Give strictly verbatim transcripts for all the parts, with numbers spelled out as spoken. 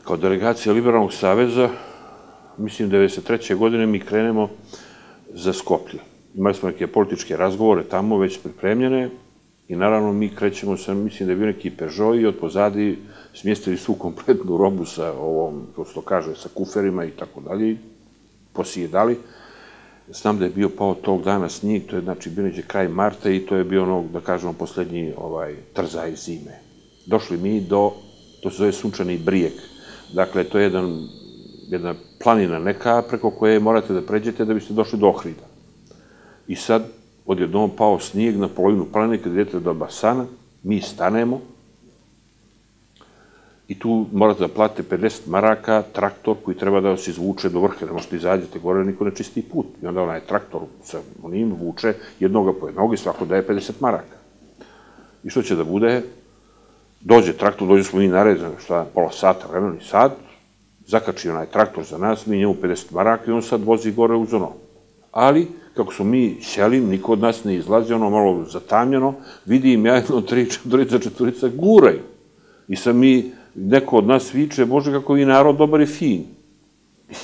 kao delegacija Liberalnog saveza, mislim, devedeset treće godine mi krenemo za Skoplje. Imali smo neke političke razgovore tamo, već pripremljene, i naravno mi krećemo sa, mislim da je bio neki Peugeot i od pozadi smjestili svu kompletnu robu sa ovom, kao se to kaže, sa kuferima i tako dalje, posjedali. Znam da je bio pao tog dana snijeg, to je znači bio neđe kraj marta i to je bio ono, da kažemo, poslednji trzaj zime. Došli mi do, to se zove Sunčani brijeg. Dakle, to je jedna planina neka preko koje morate da pređete da biste došli do Ohrida. I sad, odjednom pao snijeg na polovinu planine, kad idete do Basana, mi stanemo i tu morate da platite pedeset maraka, traktor koji treba da vas izvuče do vrha, da možete izađete gore, niko ne čisti put. I onda onaj traktor sa onim vuče jednoga po jednog i svako daje pedeset maraka. I što će da bude? Dođe traktor, dođe smo mi nared, šta, pola sata, vremena i sad, zakači onaj traktor za nas, mi njemu pedeset maraka i on sad vozi gore uz ono. Ali, kako smo mi sjeli, niko od nas ne izlazi, ono malo zatamljeno, vidim ja jedno tri, četvorica, četvorica guraju. I sad mi, neko od nas viče, Bože, kako vi narod dobar i fin.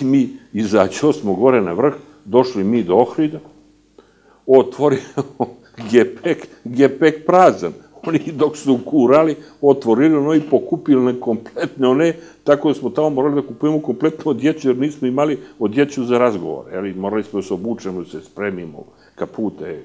I mi izađo smo gore na vrh, došli mi do Ohrida, otvorimo gepek, gepek prazan. Oni dok su kurali, otvorili ono i pokupili ne kompletne one, tako da smo tamo morali da kupujemo kompletno odjeću, jer nismo imali odjeću za razgovor. Morali smo da se obučemo, da se spremimo, kapute,